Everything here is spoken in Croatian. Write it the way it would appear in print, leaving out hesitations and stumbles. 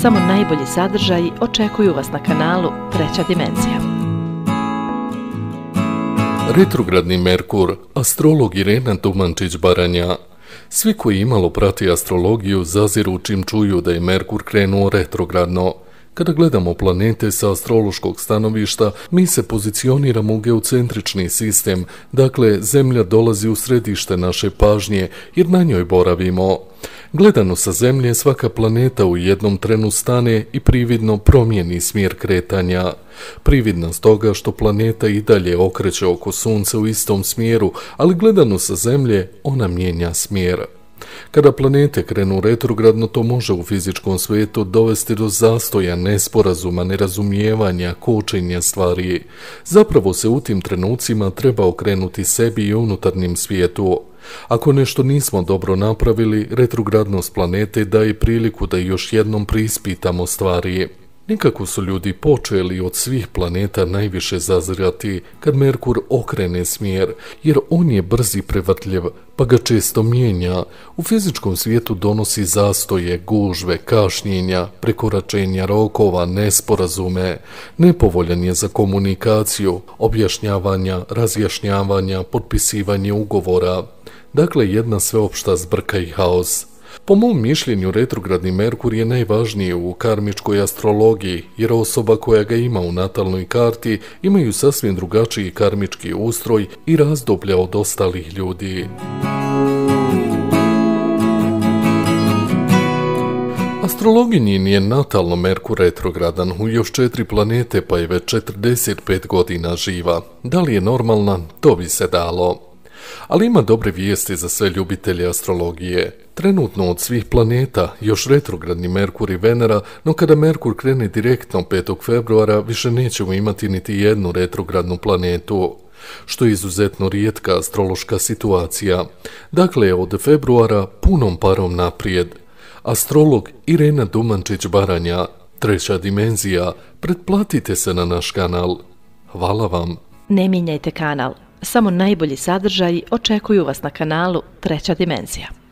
Samo najbolji sadržaji očekuju vas na kanalu Treća dimenzija. Retrogradni Merkur, astrolog Irena Dumančić-Baranja. Svi koji imalo prati astrologiju zaziru čim čuju da je Merkur krenuo retrogradno. Kada gledamo planete sa astrološkog stanovišta, mi se pozicioniramo u geocentrični sistem, dakle Zemlja dolazi u središte naše pažnje jer na njoj boravimo. Gledano sa Zemlje, svaka planeta u jednom trenu stane i prividno promijeni smjer kretanja. Prividna stoga što planeta i dalje okreće oko Sunca u istom smjeru, ali gledano sa Zemlje ona mijenja smjer. Kada planete krenu retrogradno, to može u fizičkom svijetu dovesti do zastoja, nesporazuma, nerazumijevanja, kočenja stvari. Zapravo se u tim trenucima treba okrenuti sebi i unutarnjem svijetu. Ako nešto nismo dobro napravili, retrogradnost planete daje priliku da još jednom preispitamo stvari. Nekako su ljudi počeli od svih planeta najviše zazirati kad Merkur okrene smjer, jer on je brz i prevrtljiv, pa ga često mijenja. U fizičkom svijetu donosi zastoje, gužve, kašnjenja, prekoračenja rokova, nesporazume. Nepovoljan je za komunikaciju, objašnjavanja, razjašnjavanja, potpisivanje ugovora. Dakle, jedna sveopšta zbrka i haos. Po mom mišljenju, retrogradni Merkur je najvažniji u karmičkoj astrologiji, jer osoba koja ga ima u natalnoj karti imaju sasvim drugačiji karmički ustroj i razdoblja od ostalih ljudi. Astrologinjin je natalno Merkur retrogradan u još 4 planete, pa je već 45 godina živa. Da li je normalna, to bi se dalo. Ali ima dobre vijesti za sve ljubitelje astrologije. Trenutno od svih planeta još retrogradni Merkur i Venera, no kada Merkur krene direktno 5. februara više nećemo imati niti jednu retrogradnu planetu, što je izuzetno rijetka astrološka situacija. Dakle, od februara punom parom naprijed. Astrolog Irena Dumančić-Baranja, Treća dimenzija, pretplatite se na naš kanal. Hvala vam. Ne mijenjajte kanal. Samo najbolji sadržaji očekuju vas na kanalu Treća dimenzija.